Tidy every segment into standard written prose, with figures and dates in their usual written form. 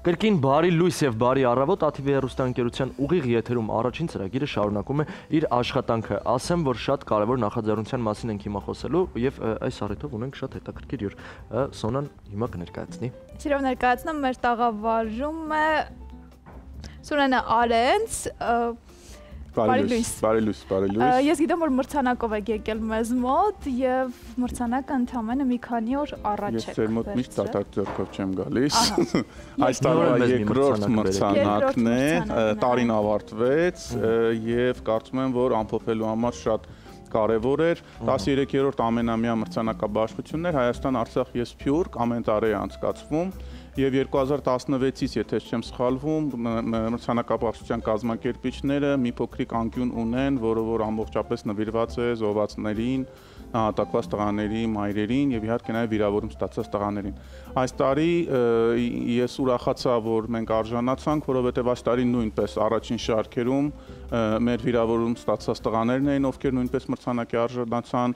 Կրկին բարի լույս եւ բարի առավոտ ATV հեռուստաընկերության ուղիղ եթերում առաջին ծրագիրը շարունակում է իր աշխատանքը։ Ասեմ, որ շատ կարևոր նախաձեռնության մասին ենք հիմա խոսելու եւ այս առիթով ունենք շատ հետաքրքիր հյուր։ Սոնան հիմա կներկայացնի։ Սիրով ներկայացնում մեր տաղավարում է Սուրենը Արենց, Բարի լույս։ Ես գիտեմ, որ մրցանակով եք եկել մեզ մոտ եւ մրցանակը ընդամենը մի քանի օր առաջ եք։ Ես ձեր մոտ միշտ դատարկ ձեռքով չեմ գալիս։ Այս տարվա երկրորդ մրցանակն է, տարին ավարտվեց եւ կարծում եմ, որ ամփոփելու համար շատ կարևոր էր։ 13-րդ ամենամյա մրցանակաբաշխություններ Հայաստան-Արցախ ես Փյուրք ամեն տարի է անցկացվում։ Եվ 2016-ից, եթե չեմ սխալվում, մրցանակաբաշխության կազմակերպիչները մի փոքրիկ անկյուն ունեն, որը որ ամբողջապես նվիրված է զոհվածներին, նահատակված տղաների մայրերին եւ իհարկե նաեւ վիրավորում ստացած տղաներին։ Այս տարի ես ուրախացա, որ մենք արժանացանք, որովհետեւ այս տարի նույնպես առաջին շարքերում մեր վիրավորում ստացած տղաներն էին, ովքեր նույնպես մրցանակի արժանացան,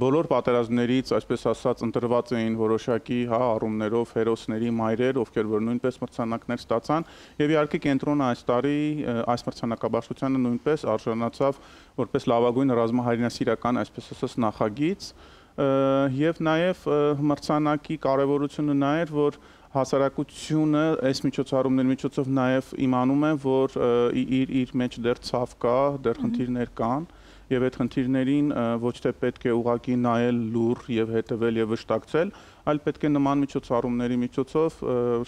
բոլոր պատերազմներից, այսպես ասած, ընտրված էին որոշակի առումներով հերոսների մայրեր, ովքեր որ նույնպես մրցանակներ ստացան, եւ իհարկե կենտրոնը այս տարի այս մրցանակաբաշխությանը նույնպես արժանացավ որպես լավագույն ռազմահայրենասիրական, այսպես ասած, նախագիծ, եւ նաեւ մրցանակի կարեւորությունը նա էր, որ հասարակությունը այս միջոցառումների միջոցով նաեւ իմանում է, որ իր մեջ դեռ ցավ կա, դեռ խնդիրներ կան, եւ այդ խնդիրներին ոչ թե պետք է ուղղակի նայել լուռ եւ հետեւել եւ վշտակցել, այլ պետք է նման միջոցառումների միջոցով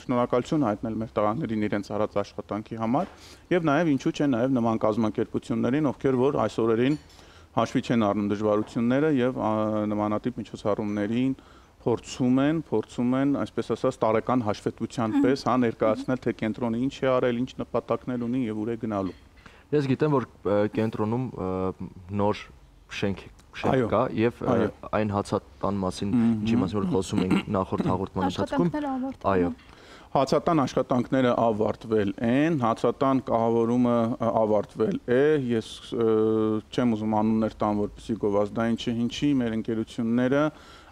շնորհակալություն հայտնել մեր տղաներին իրենց արած աշխատանքի համար եւ նաեւ ինչու՞ չէ նաեւ նման կազմակերպություններին, ովքեր որ այս օրերին հաշվի չեն առնում դժվարությունները եւ նմանատիպ միջոցառումներին փորձում են, այսպես ասած, տարեկան հաշվետվության պես ներկայացնել, թե կենտրոնը ինչ է արել, ինչ նպատակներ ունի եւ ուր է գնալու։ Ես գիտեմ, որ կենտրոնում նոր շենք կա եւ այն հացատան մասին, ինչի մասին որ խոսում ենք նախորդ հաղորդման ընթացքում։ Այո։ Հացատան աշխատանքները ավարտվել են, հացատան կահավորումը ավարտվել է, ես չեմ ուզում անուններ տամ, որպեսզի գովազդային չհնչի, մեր ընկերությունները,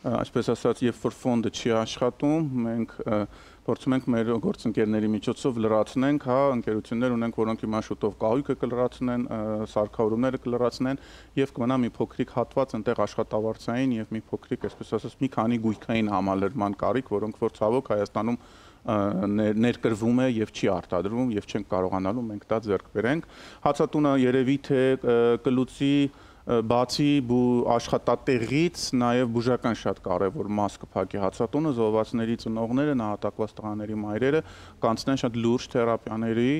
այսպես ասած, երբ որ ֆոնդը չի աշխատում, մենք փորձում ենք մեր գործընկերների միջոցով լրացնենք, ընկերություններ ունենք, որոնք հիմա շուտով կահույքը կլրացնեն, սարքավորումները կլրացնեն եւ կմնա մի փոքրիկ հատված այնտեղ աշխատավարձային եւ մի փոքրիկ, այսպես ասած, մի քանի գույքային համալրման կարիք, որոնք որ ցավոք Հայաստանում ներկրվում է եւ չի արտադրվում եւ չենք կարողանալու մենք դա ձեռք բերենք։ Հացատունը երևի թե կլուծի բացի աշխատատեղից նաև բուժական շատ կարևոր մաս կփակի հացատունը, զոհվածների ծնողները, նահատակված տղաների մայրերը կանցնեն շատ լուրջ թերապիաների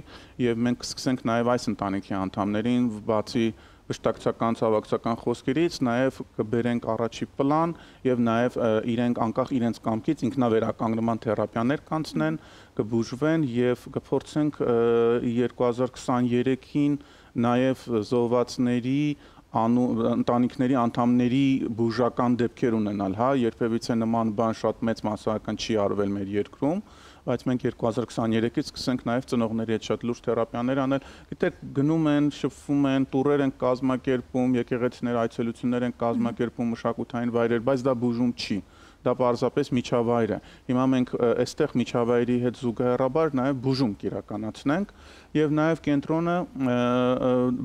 եւ մենք կսկսենք նաև այս ընտանիքի անդամներին բացի վշտակցական, ցավակցական խոսքերից նաև կբերենք առաջի պլան եւ նաև իրենք անկախ իրենց կամքից ինքնավերականգնման թերապիաներ կանցնեն, կբուժվեն եւ կփորձենք 2023-ին նաև զոհվածների ընտանիքների անդամների բուժական դեպքեր ունենալ, երբևիցե նման բան շատ մեծ մասսայական չի արվել մեր երկրում, բայց մենք 2023-ից սկսենք նաև ծնողների հետ շատ լուրջ թերապիաներ անել, գիտեք, գնում են, շփվում են, տուրեր են կազմակերպում, եկեղեցիներ, այցելություններ են կազմակերպում, մշակութային վայրեր, բայց դա բուժում չի, դա պարզապես միջավայր է։ Հիմա մենք այստեղ միջավայրի հետ զուգահեռաբար նաև բուժում կիրականացնենք եւ նաև կենտրոնը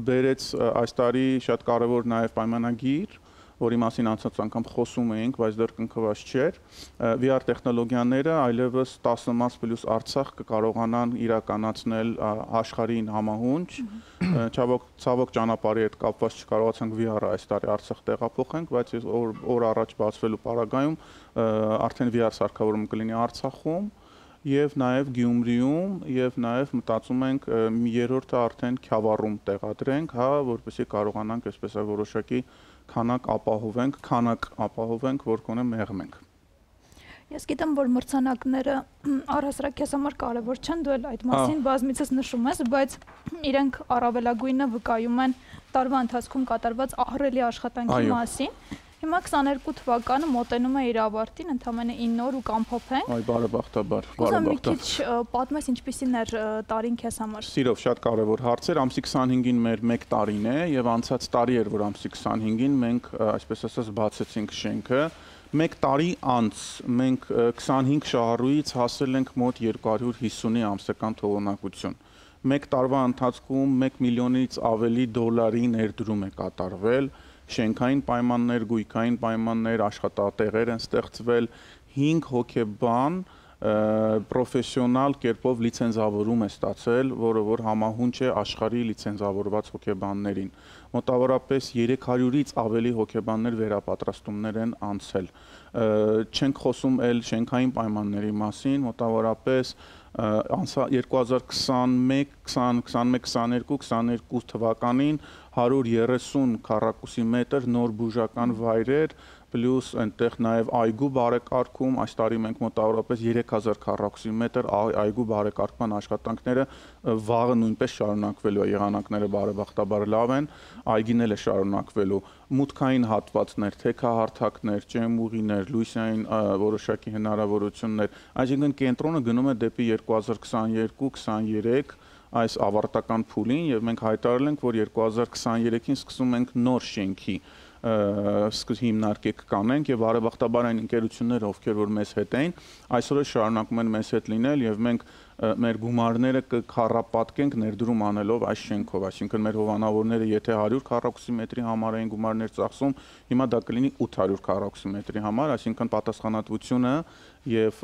բերեց այս տարի շատ կարեւոր նաև պայմանագիր, որի մասին անցած անգամ խոսում էինք, բայց դեռ կնքված չէր, VR տեխնոլոգիաները այլևս 10 մարզ պլյուս Արցախ կկարողանան իրականացնել աշխարհին համահունչ, ցավոք ճանապարհի հետ կապված չկարողացանք VR-ը այս տարի Արցախ տեղափոխենք, բայց օր առաջ բացվելու պարագայում արդեն VR սարքավորումը կլինի Արցախում եւ նաեւ Գյումրիում եւ նաեւ մտածում ենք երրորդը արդեն Քյավառում տեղադրենք, որպեսզի կարողանանք այսպես որոշակի քանակ ապահովենք, որ կոնե մեղմենք։ Ես գիտեմ, որ մրցանակները առհասարակ քեզ համար կարևոր չեն, դու էլ այդ մասին բազմիցս նշում ես, բայց իրենք առավելագույնը վկայում են տարվա ընթացքում կատարված ահռելի աշխատանքի մասին։ Հիմա 22 թվականը մոտենում է իր ավարտին, ընդամենը 9 օր ու կամփոփենք։ Այ բարեբախտաբար, բարեբախտաբար։ Մի քիչ պատմես ինչպիսին էր տարին քեզ համար։ Սիրով շատ կարևոր հարց էր, ամսի 25-ին մեր 1 տարին է եւ անցած տարի էր, որ ամսի 25-ին մենք այսպես ասած բացեցինք շենքը Մեկ տարի անց մենք 25 շահառուից հասել ենք մոտ 250-ի ամսական թողունակություն։ Մեկ տարվա ընթացքում 1 միլիոնից ավելի դոլարի ներդրում է կատարվել, շենքային պայմաններ, գույքային պայմաններ, աշխատատեղեր են ստեղծվել, 5 հոգեբան պրոֆեսիոնալ կերպով լիցենզավորում է ստացել, որը որ համահունչ է աշխարհի լիցենզավորված հոգեբաններին։ Մոտավորապես 300-ից ավելի հոգեբաններ վերապատրաստումներ են անցել։ Չենք խոսում էլ շենքային պայմանների մասին, մոտավորապես 2021-22 թվականին 130 քառակուսի մետր նոր բուժական վայրեր, պլյուս այնտեղ նաև այգու բարեկարգում, այս տարի մենք մոտավորապես 3000 քառակուսի մետր այգու բարեկարգման աշխատանքները վաղը նույնպես շարունակվելու է, եղանակները բարեբախտաբար լավ են, այգին էլ է շարունակվելու, մուտքային հատվածներ, թեքահարթակներ, ճեմուղիներ, լույսային որոշակի հնարավորություններ, այսինքն կենտրոնը գնում է դեպի 2022-23 այս ավարտական փուլին եւ մենք հայտարարել ենք, որ 2023-ին սկսում ենք նոր շենքի հիմնարկեք կանենք եւ բարեբախտաբար այն ընկերությունները, ովքեր որ մեզ հետ էին, այսօր շարունակում են մեզ հետ լինել եւ մենք մեր գումարները կքառապատկենք ներդրում անելով այս շենքով, այսինքն մեր հովանավորները եթե 100 քառակուսի մետրի համար էին գումարներ ծախսում, հիմա դա կլինի 800 քառակուսի մետրի համար, այսինքն պատասխանատվությունը եւ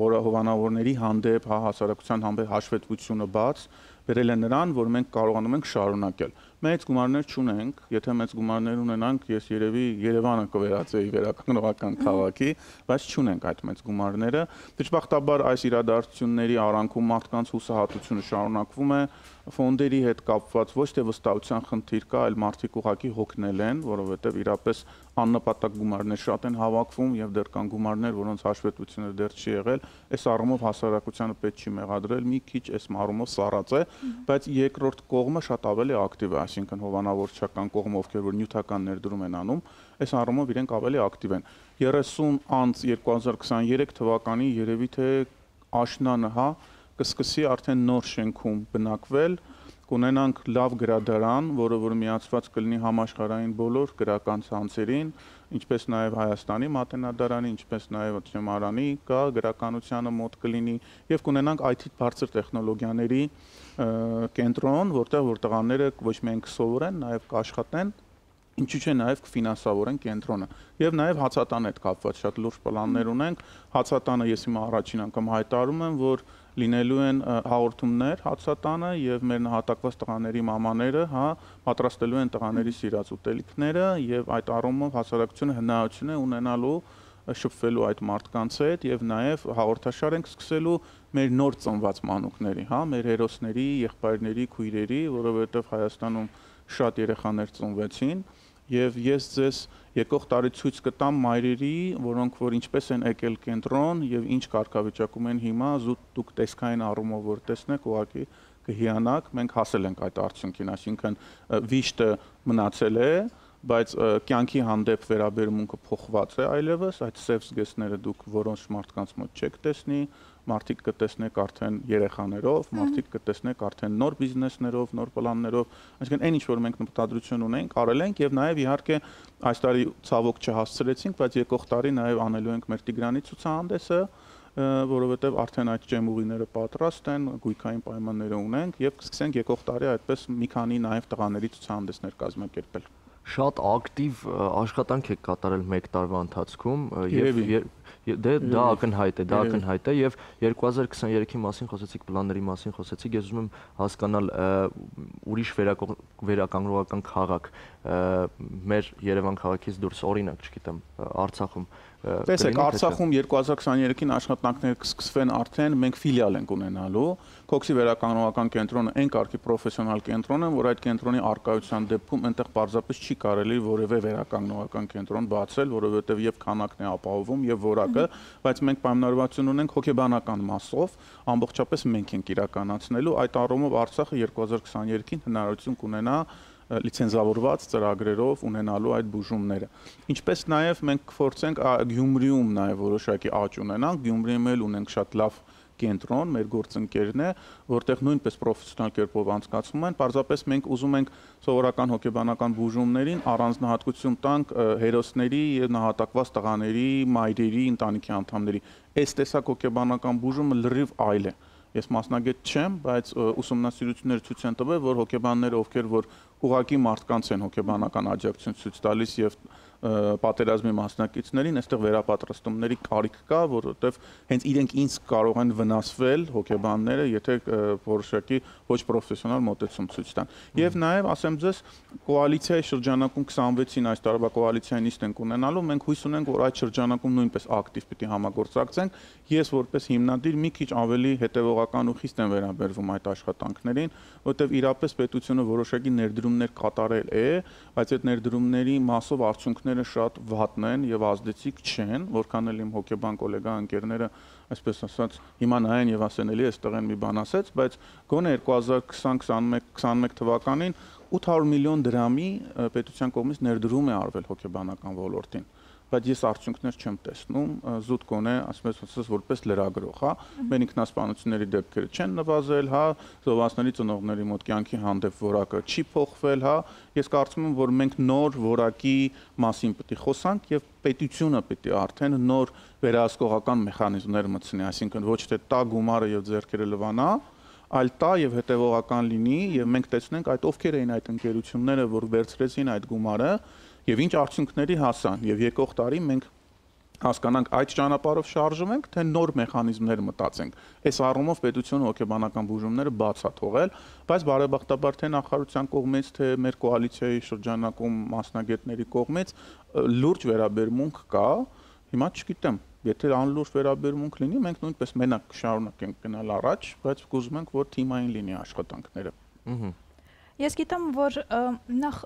որը հովանավորների հանդեպ, հասարակության հանդեպ հաշվետվությունը բաց վերել է նրան, որ մենք կարողանում ենք շարունակել։ Մեծ գումարներ չունենք, եթե մեծ գումարներ ունենանք, ես երևի Երևանը կվերածեի վերականգնողական քաղաքի, բայց չունենք այդ մեծ գումարները։ Դժբախտաբար այս իրադարձությունների արանքում մարդկանց հուսահատությունը շարունակվում է, ֆոնդերի հետ կապված ոչ թե վստահության խնդիր կա, այլ մարդիկ ուղղակի հոգնել են, որովհետև իրապես աննպատակ գումարներ շատ են հավաքվում եւ դեռ կան գումարներ, որոնց հաշվետվությունը դեռ չի եղել, այս առումով հասարակությանը պետք չի մեղադրել, մի քիչ այս առումով սառած է, բայց երկրորդ կողմը շատ ավելի ակտիվ է, այսինքն հովանավորչական կողմը, ովքեր որ նյութական ներդրում են անում, այս առումով իրենք ավելի ակտիվ են։ 30 անց 2023 թվականի երևի թե աշնանը, հա, կսկսի արդեն նոր շենքում բնակվել, կունենանք լավ գրադարան, որը որ միացված կլինի համաշխարհային բոլոր գրական ցանցերին, ինչպես նաև Հայաստանի մատենադարանի, ինչպես նաև Չեմարանի կա գրականությանը մոտ կլինի եւ կունենանք IT բարձր տեխնոլոգիաների կենտրոն, որտեղ որ տղաները ոչ միայն կսովորեն, նաև կաշխատեն, ինչու՞ չէ նաև կֆինանսավորեն կենտրոնը եւ նաև հացատան հետ կապված շատ լուրջ պլաններ ունենք, հացատանը ես հիմա առաջին անգամ հայտարարում եմ, որ լինելու են հաղորդումներ հացատանը եւ մեր նահատակված տղաների մամաները, հա, պատրաստելու են տղաների սիրած ուտելիքները եւ այդ առումով հասարակությունը հնարավորություն է ունենալու շփվելու այդ մարդկանց հետ եւ նաեւ հաղորդաշար ենք սկսելու մեր նոր ծնված մանուկների, հա, մեր հերոսների, եղբայրների, քույրերի, որովհետեւ Հայաստանում շատ երեխաներ ծնվեցին եւ ես ձեզ եկող տարի ցույց կտամ մայրերի, որոնք որ ինչպես են եկել կենտրոն եւ ինչ կարգավիճակում են հիմա, զուտ դուք տեսքային առումով որ տեսնեք, ուղղակի կհիանաք, մենք հասել ենք այդ արդյունքին, այսինքն վիշտը մնացել է, բայց կյանքի հանդեպ վերաբերմունքը փոխված է այլևս, այդ սև զգեստները դուք որոնց մարդկանց մոտ չեք տեսնի, մարդիկ կտեսնեք արդեն երեխաներով, մարդիկ կտեսնեք արդեն նոր բիզնեսներով, նոր պլաններով, այսինքն այն ինչ որ մենք մտադրություն ունենք, արել ենք եւ նաեւ իհարկե այս տարի ցավոք չհասցրեցինք, բայց եկող տարի նաեւ անելու ենք մեր Տիգրանի ցուցահանդեսը, որովհետեւ արդեն այդ ջեմուղիները պատրաստ են, գույքային պայմանները ունենք եւ կսկսենք եկող տարի այդպես մի քանի նաեւ տղաների ցուցահանդեսներ կազմակերպել։ Շատ ակտիվ աշխատանք եք կատարել մեկ տարվա ընթացքում եւ դա ակնհայտ է եւ 2023-ի մասին խոսեցիք, պլանների մասին խոսեցիք, ես ուզում եմ հասկանալ ուրիշ վերականգնողական քաղաք մեր Երևան քաղաքից դուրս, օրինակ, չգիտեմ, Արցախում Տեսեք, Արցախում 2023-ին աշխատանքները կսկսվեն արդեն, մենք ֆիլիալ ենք ունենալու, Քոքսի վերականգնողական կենտրոնը այն կարգի պրոֆեսիոնալ կենտրոն է, որ այդ կենտրոնի արկայության դեպքում այնտեղ պարզապես չի կարելի որևէ վերականգնողական կենտրոն բացել, որովհետև եւ քանակն է ապահովում եւ որակը, բայց մենք պայմանավորվածություն ունենք հոգեբանական մասով, ամբողջապես մենք ենք իրականացնելու, այդ առումով Արցախը 2023-ին հնարավորություն կունենա լիցենզավորված ծրագրերով ունենալու այդ բուժումները։ Ինչպես նաև մենք կփորձենք Գյումրիում նաև որոշակի աճ ունենանք, Գյումրիում էլ ունենք շատ լավ կենտրոն, մեր գործընկերն է, որտեղ նույնպես պրոֆեսիոնալ կերպով անցկացվում են, պարզապես մենք ուզում ենք սովորական հոգեբանական բուժումներին առանձնահատկություն տանք հերոսների եւ նահատակված տղաների, մայրերի, ընտանիքի անդամների։ Այս տեսակ հոգեբանական բուժումը լրիվ այլ է։ Ես մասնագետ չեմ, բայց ուսումնասիրությունները ցույց են տվել, որ հոգեբանները, ովքեր որ ուղղակի մարդկանց են հոգեբանական աջակցություն ցույց տալիս եւ պատերազմի մասնակիցներին, այստեղ վերապատրաստումների կարիք կա, որովհետև հենց իրենք ինձ կարող են վնասվել հոգեբանները, եթե որոշակի ոչ պրոֆեսիոնալ մոտեցում ցույց տան։ Եվ նաև ասեմ ձեզ, կոալիցիայի շրջանակում 26-ին այս տարվա կոալիցիայի նիստ ենք ունենալու, մենք հույս ունենք, որ այդ շրջանակում նույնպես ակտիվ պիտի համագործակցենք։ Ես որպես հիմնադիր մի քիչ ավելի հետևողական ու խիստ եմ վերաբերվում այդ աշխատանքներին, որովհետև իրապես պետությունը որոշակի ներդրումներ կատարել է, բայց այդ ներդրումների մասով արդյունքները շատ վատն են եւ ազդեցիկ չեն, որքան էլ իմ հոգեբան գոլեգա ընկերները, այսպես ասած, հիմա նայեն եւ ասեն էլի այստեղ են մի բան ասեց, բայց գոնե 2020-21 թվականին 800 միլիոն դրամի պետության կողմից ներդրում է արվել հոգեբանական ոլորտին, բայց ես արդյունքներ չեմ տեսնում, զուտ գոնե, ասես որպես լրագրող, հա, մեր ինքնասպանությունների դեպքերը չեն նվազել, հա, զոհվածների ծնողների մոտ կյանքի հանդեպ որակը չի փոխվել, հա, ես կարծում եմ, որ մենք նոր որակի մասին պետք է խոսանք եւ պետությունը պետք է արդեն նոր վերահսկողական մեխանիզմներ մտցնի, այսինքն ոչ թե տա գումարը եւ ձեռքերը լվանա, այլ տա եւ հետեւողական լինի եւ մենք տեսնենք այդ ովքեր էին այդ ընկերությունները, որ վերցրեցին այդ գումարը եւ ինչ արդյունքների հասան եւ եկող տարի մենք հասկանանք այդ ճանապարհով շարժվենք, թե նոր մեխանիզմներ մտածենք։ Այս առումով պետությունը հոգեբանական բուժումները բաց է թողել, բայց բարեբախտաբար թե նախարարության կողմից, թե մեր կոալիցիայի շրջանակում մասնագետների կողմից լուրջ վերաբերմունք կա։ Հիմա չգիտեմ, եթե անլուրջ վերաբերմունք լինի, մենք նույնպես մենակ կշարունակենք գնալ առաջ, բայց կուզում ենք, որ թիմային լինի աշխատանքները։ Ես գիտեմ, որ նախ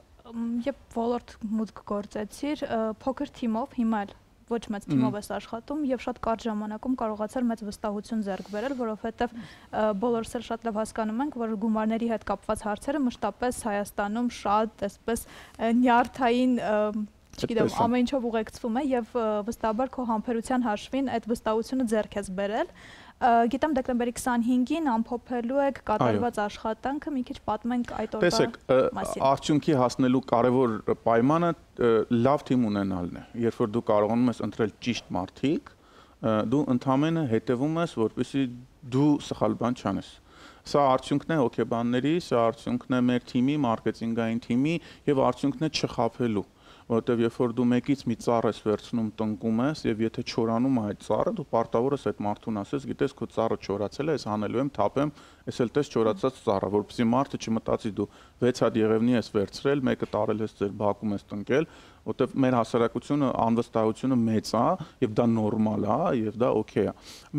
երբ ոլորտ մուտք գործեցիր, փոքր թիմով, հիմա էլ ոչ մեծ թիմով ես աշխատում եւ շատ կարճ ժամանակում կարողացար մեծ վստահություն ձեռք բերել, որովհետեւ բոլորս էլ շատ լավ հասկանում ենք, որ գումարների հետ կապված հարցերը մշտապես Հայաստանում շատ այսպես նյարդային չգիտեմ, ամեն ինչով ուղեկցվում է եւ վստահաբար քո համբերության հաշվին այդ վստահությունը ձեռք ես բերել։ Գիտեմ դեկտեմբերի 25-ին ամփոփելու եք կատարված աշխատանքը, մի քիչ պատմենք այդ օրվա մասին։ Տեսեք, արդյունքի հասնելու կարևոր պայմանը լավ թիմ ունենալն է։ Երբ որ դու կարողանում ես ընտրել ճիշտ մարդիկ, դու ընդհանրապես հետևում ես, որպեսզի դու սխալ բան չանես։ Սա արդյունքն է հոգեբանների, սա արդյունքն է մեր թիմի, մարքեթինգային թիմի եւ արդյունքն է չխաբելու։ Որտեվ երբ որ դու մեկից մի ծառ ես վերցնում, տնկում ես եւ եթե չորանում է այդ ծառը, դու պարտավոր ես այդ մարդուն ասես, գիտես քո ծառը չորացել է, ես հանելու եմ, թափեմ, ես էլ տես չորացած ծառը, որպեսզի մարդը չմտածի դու 6 հատ եղևնի ես վերցրել, մեկը տարել ես ձեր բակում ես տնկել, որտեվ մեր հասարակությունը անվստահությունը մեծ է եւ դա նորմալ է եւ դա օքեյ է։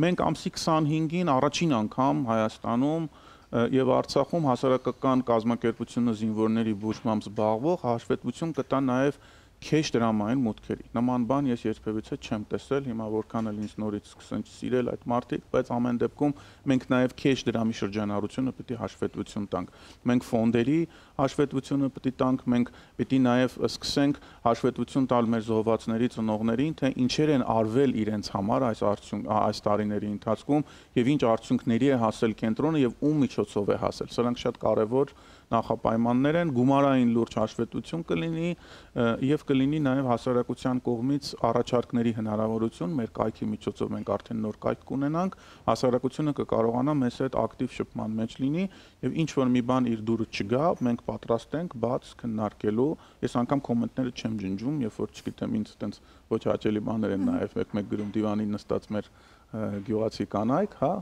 Մենք ամսի 25-ին առաջին անգամ Հայաստանում եւ Արցախում հասարակական կազմակերպությունը զինվորների բուժմամբ զբաղվող հաշվետվություն կտա նաեւ քեշ դրամային մուտքերի։ Նման բան ես երբևիցե չեմ տեսել, հիմա որքան էլ ինձ նորից սկսեն սիրել այդ մարդիկ, բայց ամեն դեպքում մենք նաև քեշ դրամի շրջանառությունը պետք է հաշվետվություն տանք։ Մենք ֆոնդերի հաշվետվությունը պետք է տանք, մենք պետք է նաև սկսենք հաշվետվություն տալ մեր զոհվածների ծնողներին, թե ինչեր են արվել իրենց համար այս տարիների ընթացքում եւ ինչ արդյունքների է հասել կենտրոնը եւ ում միջոցով է հասել։ Սրանք շատ կարեւոր նախապայմաններ են, գումարային լուրջ հաշվետվություն կլինի եւ կլինի նաեւ հասարակության կողմից առաջարկների հնարավորություն, մեր կայքի միջոցով մենք արդեն նոր կայք կունենանք, հասարակությունը կկարողանա մեզ հետ ակտիվ շփման մեջ լինի եւ ինչ որ մի բան իր դուրը չգա, մենք պատրաստ ենք բաց քննարկելու։ Ես անգամ կոմենտները չեմ ջնջում, երբ որ չգիտեմ ինձ այտենց ոչ հաճելի բաներ են նաեւ մեկ գրում դիվանին նստած մեր գյուղացի կանայք, հա,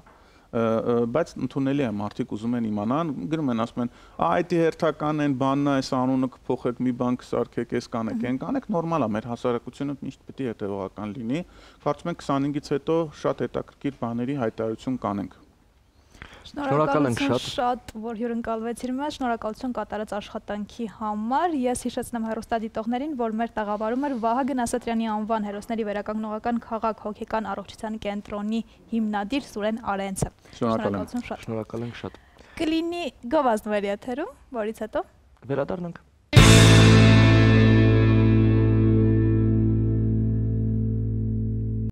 բայց ընդունելի է մարդիկ ուզում են իմանան, գրում են ասում են, այդ հերթական են բանն է, այս անունը կփոխեք, մի բան կսարքեք, այս կանեք, այն կանեք, նորմալ է, մեր հասարակությունը միշտ պետք է հետևողական լինի։ Կարծում եմ 25-ից հետո շատ հետաքրքիր բաների հայտարարություն կանենք։ Շնորհակալություն շատ, որ հյուրընկալվեցիր մեզ, շնորհակալություն կատարած աշխատանքի համար։ Ես հիշեցնեմ հեռուստադիտողներին, որ մեր տաղավարում էր Վահագն Ասատրյանի անվան հերոսների վերականգնողական քաղաք հոգեկան առողջության կենտրոնի հիմնադիր Սուրեն Արենցը։ Շնորհակալություն շատ։ Շնորհակալ ենք շատ։ Կլինի գովազդների եթերում, որից հետո վերադառնանք։